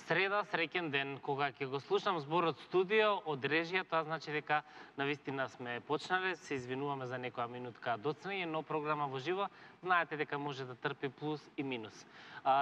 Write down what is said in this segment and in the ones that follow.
Среда, среќен ден, кога ќе го слушам зборот студио од режија, тоа значи дека навистина сме почнале, се извинуваме за некоја минутка доцнење, но програма во живо, знаете дека може да трпи плюс и минус.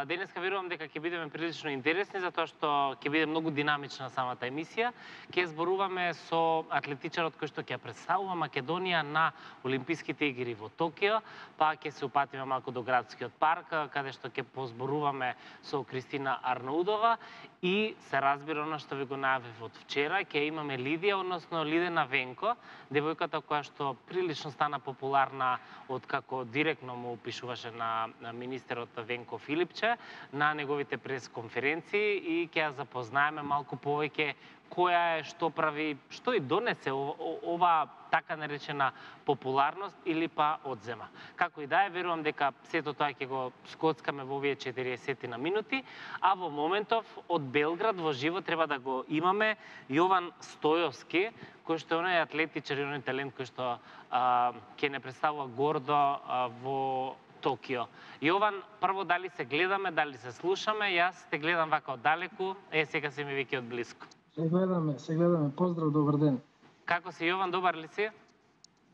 Денеска верувам дека ќе бидеме прилично интересни, затоа што ќе биде многу динамична самата емисија. Ќе зборуваме со атлетичарот кој што ќе представува Македонија на Олимписките игри во Токио, па ќе се упатиме малку до градскиот парк, каде што ќе позборуваме со Кристина Арнаудова. И се разбира она што ви го најавив од вчера, ќе имаме Лидија, односно Лидена Венко, девојката која што прилично стана популарна од како директно му пишуваше на министерот Венко Филипче на неговите пресконференции и ќе ја запознаеме малку повеќе која е, што прави, што и донесе ова така наречена популарност или па одзема. Како и да е, верувам дека сето тоа ќе го скоцкаме во овие 40 на минути, а во моментов од Белград во живо треба да го имаме Јован Стојовски, кој што е оној атлетичар и оној талент кој што ќе не представува гордо во Токио. Јован, прво дали се гледаме, дали се слушаме, јас те гледам вака оддалеку, сега се ми веќе од близко. Се гледаме. Поздрав, добар ден. Како си, Јован, добар ли си?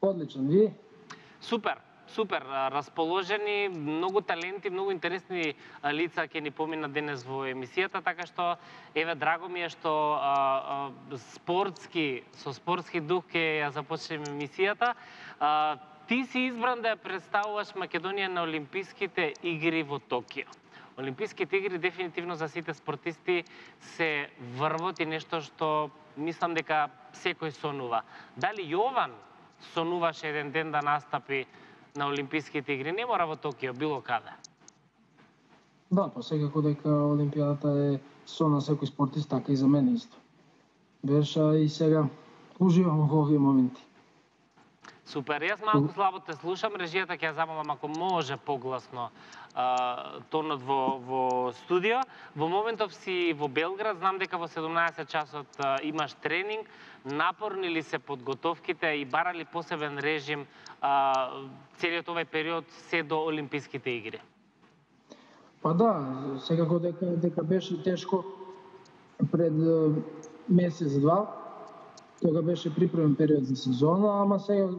Одличен, ви? Супер, расположени, многу таленти, многу интересни лица ќе ни поминат денес во емисијата, така што, еве, драго ми е што со спортски дух ќе ја започнеме емисијата. Ти си избран да ја представуваш Македонија на Олимписките игри во Токио. Олимписките игри дефинитивно за сите спортисти се врвот и нешто што мислам дека секој сонува. Дали Јован сонуваше еден ден да настапи на Олимписките игри? Не мора во Токио, било каде. Да, па секако дека Олимпијадата е сон на секој спортист, така и за мене исто. Беше и сега уживам во овие моменти. Супер, јас малку слабо те слушам, режијата ќе ја замолам ако може погласно тонот во студио. Во моментов си во Белград, знам дека во 17 часот имаш тренинг. Напорни ли се подготовките и бара ли посебен режим целиот овој период се до Олимписките игри? Па да, секако дека беше тешко пред месец-два, кога беше припремен период за сезона, ама сега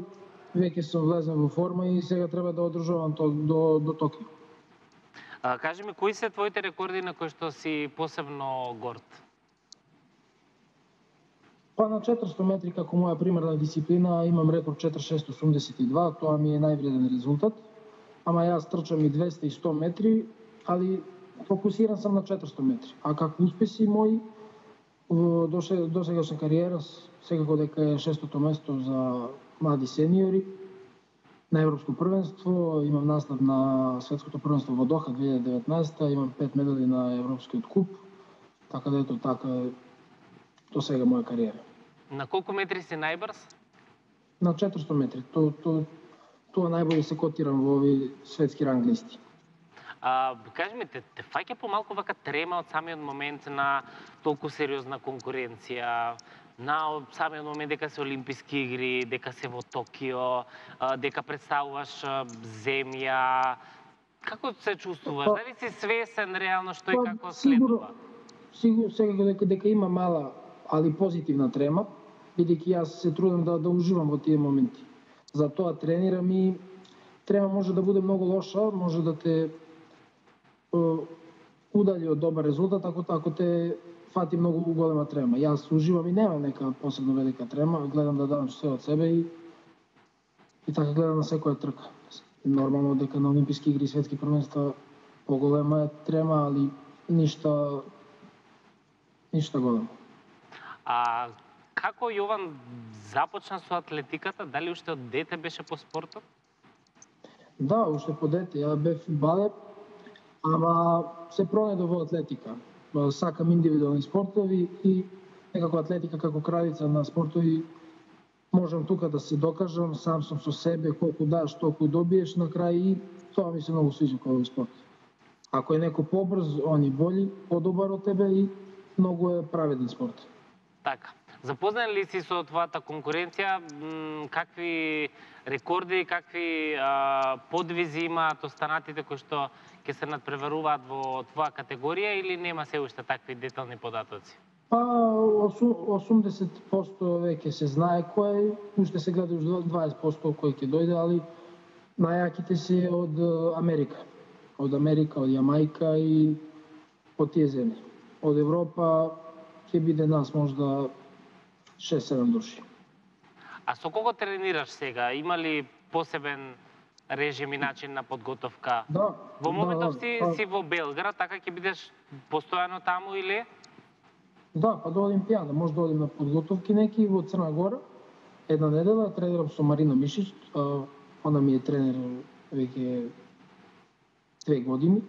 веќе сум влезен во форма и сега треба да одржувам до Токио. Кажи ми, кои се твоите рекорди на кои што си посебно горд? Па на 400 метри, како моја примерна дисциплина, имам рекорд 4,682, тоа ми е највреден резултат. Ама јас трчам и 200 и 100 метри, али фокусиран сам на 400 метри. А како успеси мои до сегашна кариера, секако дека е 600-то место за млади сениори на Европско првенство, имам настап на Светското првенство во Доха 2019, имам 5 медали на Европскиот куп, така да ето така до сега моја кариера. На колку метри си најбрз? На 400 метри. Тоа најбоље се котирам во овие светски ранг листи. Кажи ми, те фаќа помалку вака трема од самиот момент на толку сериозна конкуренција, на самиот момент дека се Олимписки игри, дека се во Токио, дека представуваш земја. Како се чувствуваш? Дали си свесен реално што и како следува? Сигурно дека има мала, али позитивна трема, бидејќи јас се трудам да уживам во тие моменти. Затоа тренирам и трема може да биде многу лоша, може да те удали од добар резултат ако те фати многу голема трема. Јас уживам и немам нека посебно велика трема, гледам да дадам се од себе и така гледам на секоја трка. Нормално дека на Олимписки игри и светски првенства поголема е трема, али ништа големо. Како Јован започна со атлетиката? Дали уште од дете беше по спортот? Да, уште по дете. Ја бев фудбалер, ама се пронедов во атлетика. Сакам индивидуални спортови и некако атлетика како кралица на спортови можам тука да се докажам, сам сум со себе, колку даш, толку добиеш на крај и тоа ми се многу свиѓа кога овој спорт. Ако е некој побрз, он и боли, подобар од тебе и многу е праведен спорт. Така. Запознаен ли си со твојата конкуренција? Какви рекорди, какви подвизи имаат останатите кои што ќе се надпреваруваат во твоја категорија или нема се уште такви детални податоци? Па 80% веќе се знае кој е, уште се гледа 20% кој ќе дојде, али најаките се од Америка. Од Америка, од Јамајка и од тие земји. Од Европа ќе биде нас можда 6-7 души. А со кого тренираш сега? Има ли посебен режим и начин на подготовка? Да. Во моментов да. си во Белград, така ќе бидеш постојано таму или? Да, па до Олимпијада, може да одим на подготовки неки во Црна Гора. Една недела тренирам со Марина Мишич, она ми е тренер веќе 2 години.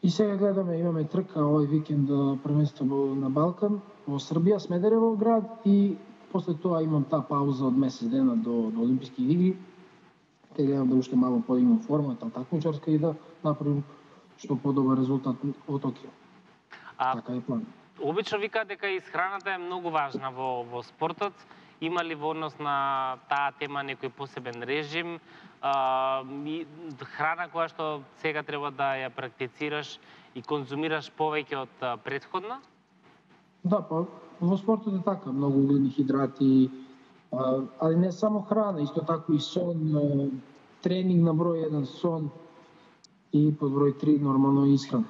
И сега гледаме, имаме трка овој викенд првенство на Балкан во Србија, Смедерево град и после тоа имам таа пауза од месец дена до Олимписки игри. Те гледам да уште мало подигнам формата такмичарска и да направим што подобар резултат во Токио. Така е план. Обично викаат дека исхраната е многу важна во спортот. Има ли во однос на таа тема некој посебен режим? Храна која што сега треба да ја практицираш и конзумираш повеќе од претходно? Да, па во спортот е така, многу угледни хидрати, али не само храна, исто така и сон, тренинг на број 1 сон и под број 3 нормално исхрана.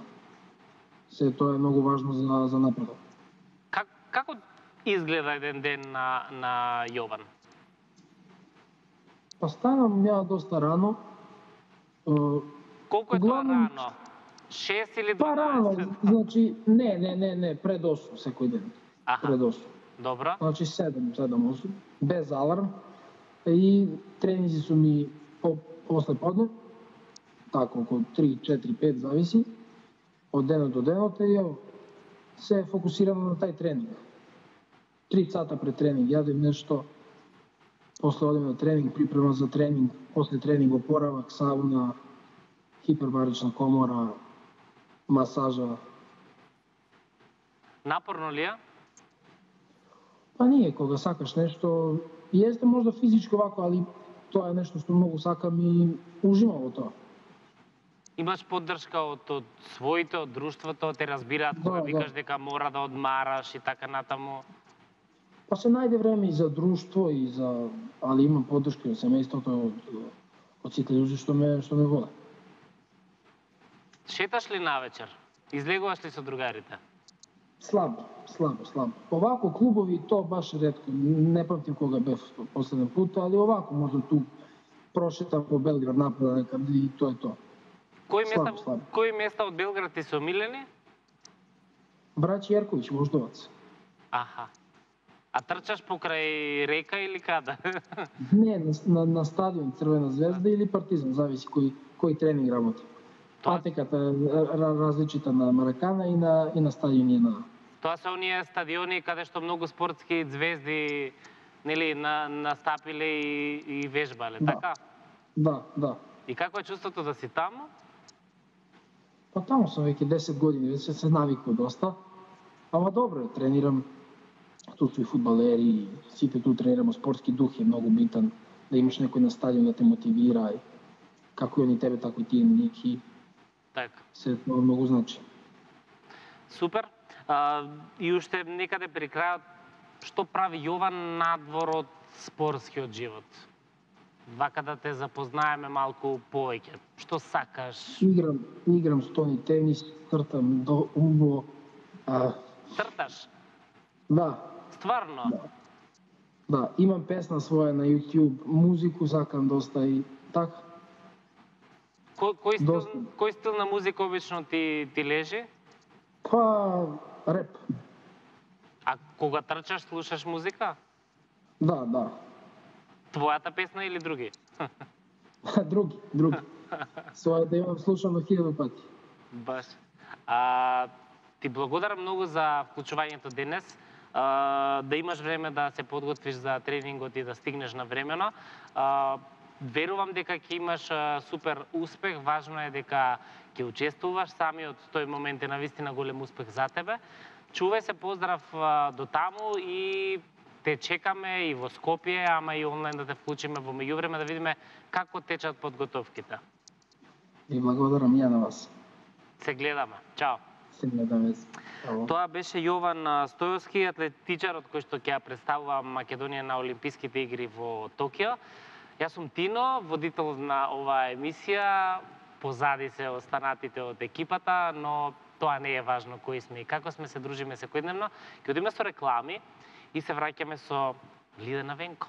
Се тоа е многу важно за напредок. Како изгледа еден ден на Јован? Па станам ја доста рано. Колку е тоа рано? 6 или 12? Па рано, значи не, пред 8 секој ден. Пред 8. Добро. Значи 7-8, без аларм. И тренинзи су ми после подне, така околу 3, 4, 5 зависи. Од денот до денот и се фокусирам на тај тренинг. 3 сата пред тренинг јадем нешто, после одем на тренинг, припрема за тренинг, после тренинг опоравак, сауна, хипербарична комора, масажа. Напорно ли е? Па ние, кога сакаш нешто, јесте можда физичко вако, али тоа е нешто што многу сакам и уживам во тоа. Имаш поддршка од своите, од друштвото, те разбираат кога викаш дека мора да одмараш и така натаму? Па се најде време и за друштво и за, али имам поддршка од семејството, од сите луѓе што ме воде. Шеташ ли навечер? Излегуваш ли со другарите? Слабо. Овако клубови то баш ретко. Не памтим кога бев последен пат, али овако можам ту прошетам по Белград напред некаде и тоа е тоа. Кои места од Белград ти се омилени? Браќи Јерковиќ, Вождовац. Аха. А трчаш покрај река или каде? Не, на стадион Црвена звезда или Партизан, зависи кој тренинг работи. Патеката различита на Маракана и на стадиони на... Тоа се оние стадиони каде што многу спортски звезди нели настапиле и вежбале, така? Да. И како е чувството да си таму? Па таму сум веќе 10 години, веќе се навикував доста. Ама добро, тренирам. Тут су и фудбалери, сите тут тренираме, спортски дух е многу битан. Да имаш некој на стадион да те мотивира, како и они тебе, тако и тие ники. Така. Се тоа многу значи. Супер. И уште некаде при крајот, што прави Јован надвор од спортскиот живот? Вака да те запознаеме малку повеќе. Што сакаш? Играм стони тенис, тртам до умбо. Трташ? Да. Стварно? Да, имам песна своја на YouTube, музику сакам доста и така. Кој стил на музика обично ти лежи? Па, реп. А кога трчаш, слушаш музика? Да. Твојата песна или други? Други. Својата имам слушано 1000 пати. Баш. Ти благодарам многу за вклучувањето денес. Да имаш време да се подготвиш за тренингот и да стигнеш на времено. Верувам дека ќе имаш супер успех. Важно е дека ќе учествуваш. Самиот тој момент е навистина голем успех за тебе. чувај се, поздрав до таму и те чекаме и во Скопје, ама и онлайн да те вклучиме во меѓувреме да видиме како течат подготовките. И благодарам ја на вас. Се гледаме. Чао. Се гледаме. Тоа беше Јован Стојовски, атлетичарот кој што ќе ја представува Македонија на Олимписките игри во Токио. Јас сум Тино, водител на оваа емисија, позади се останатите од екипата, но тоа не е важно кои сме и како сме, се дружиме секојдневно. Ќе одиме со реклами и се враќаме со Лидена Венко.